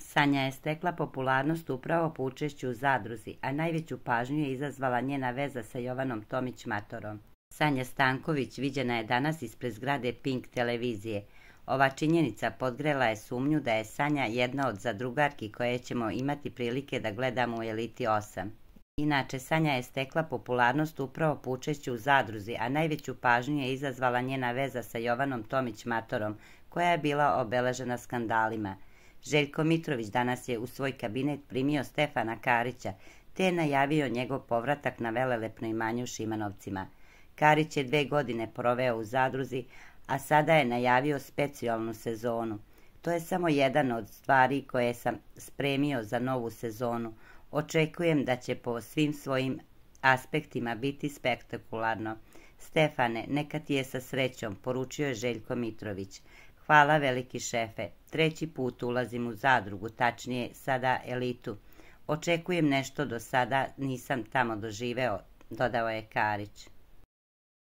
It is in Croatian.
Sanja je stekla popularnost upravo po učešću u zadruzi, a najveću pažnju je izazvala njena veza sa Jovanom Tomić Matorom. Sanja Stanković viđena je danas ispred zgrade Pink televizije. Ova činjenica podgrela je sumnju da je Sanja jedna od zadrugarki koje ćemo imati prilike da gledamo u Eliti 8. Inače, Sanja je stekla popularnost upravo po učešću u zadruzi, a najveću pažnju je izazvala njena veza sa Jovanom Tomić Matorom, koja je bila obeležena skandalima. Željko Mitrović danas je u svoj kabinet primio Stefana Karića, te je najavio njegov povratak na velelepno imanje u Šimanovcima. Karić je 2 godine proveo u zadruzi, a sada je najavio specijalnu sezonu. To je samo jedan od stvari koje sam spremio za novu sezonu. Očekujem da će po svim svojim aspektima biti spektakularno. Stefane, neka ti je sa srećom, poručio je Željko Mitrović. Hvala veliki šefe, 3. put ulazim u zadrugu, tačnije sada Elitu. Očekujem nešto do sada nisam tamo doživeo, dodao je Karić.